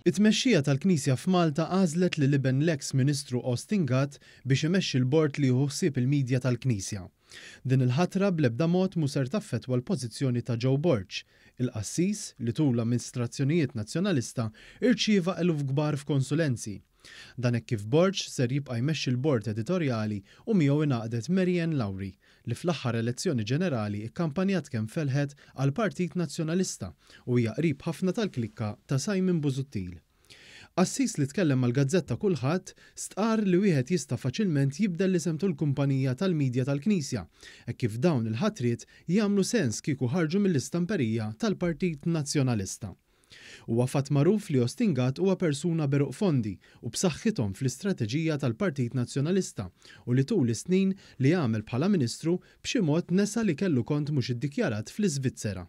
It-tmexxija tal-Knisja f'Malta għażlet lil iben l-eks Ministru Austin Gatt biex imexxi l-bord li jieħu ħsieb il-media tal-Knisja. Din il-ħatra bl-ebda mod mhu ser taffettwa l-pożizzjoni ta' Joe Borg, il-qassis li tul l-amminstrazzjonijiet Nazzjonalista rċieva eluf kbar f'konsulenzi. Dan hekk kif Borg ser jibqa' jmexxi l-bord editorjali u miegħu ingħaqdet Mary Ann Lauri li fl-aħħar elezzjoni ġenerali kkampanjat kemm felħet għall-Partit Nazzjonalista u hija qrib ħafna tal-klikka ta' Simon Busuttil. Qassis li tkellem mal-gazzetta Kullħadd stqarr li wieħed jista' faċilment jibdel l-isem tul-kumpanija tal-media tal-Knisja hekk kif dawn il-ħatriet jagħmlu sens kieku ħarġu mill-istamperija tal-Partit Nazzjonalista. Huwa fatt magħruf li Austin Gatt huwa persuna b'għeruq fondi u b'saħħithom fl-istrateġija tal-Partit Nazzjonalista u li tul is-snin li għamel bħala Ministru b'xi mod nesa li kellu kont mhux iddikjarat fl-Iżvizzera.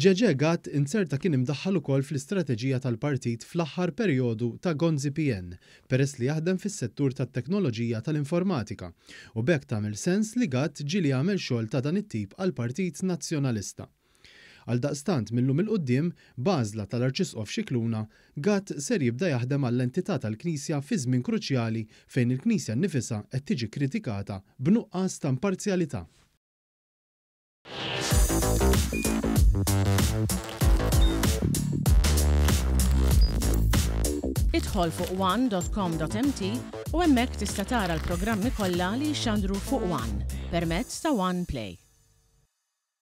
Ġeġè Gatt inzerta kien imdaħħal ukoll fl-istrateġija tal-partit fl-aħħar perjodu ta' Gonzi PN peress li jaħdem fis-settur tat-teknoloġija tal-informatika u b'hekk tagħmel sens li Gatt ġieli għamel xogħol ta' dan it-tip għall-Partit Nazzjonalista. Għaldaqstant mil-lum 'il quddiem, b'għażla tal-Arċisqof Scicluna, Gatt ser jibda jaħdem għall-entità tal-Knisja fi żmien kruċjali fejn il-Knisja nnifisha qed tiġi kkritikata b'nuqqas ta' imparzjalità. Idħol fuq one.com.mt u hemmhekk tista' tara l-programmi kollha li jixxandru fuq One permezz ta' One Play.